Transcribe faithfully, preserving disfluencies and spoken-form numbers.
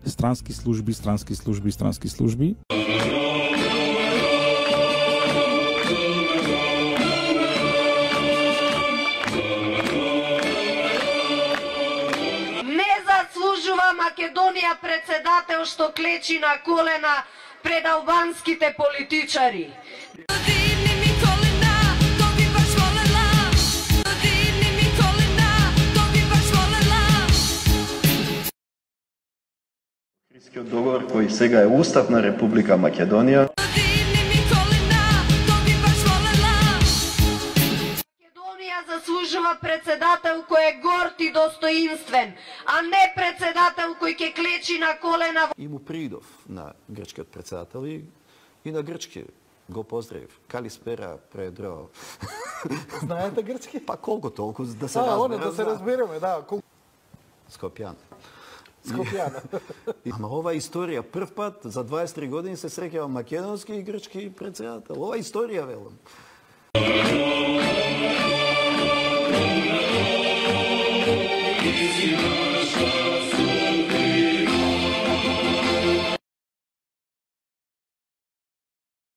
странски служби, странски служби, странски служби. Македонија председател што клечи на колена пред албанските политичари. Охридскиот договор кој сега е устав на Република Македонија. Заслужува председател кој е горд и достоинствен, а не председател кој ќе клечи на колена. И му придов на грчкиот председател и, и на грчки го поздравив. Калиспера, Предро. Знаете грчки? Па колку толку да се разбереме. А, разбере. да се разбереме, да. Кол... Скопјан. Скопјан. Ама ова историја прв пат за дваесет и три години се среќава македонски и грчки председател. Ова историја велам.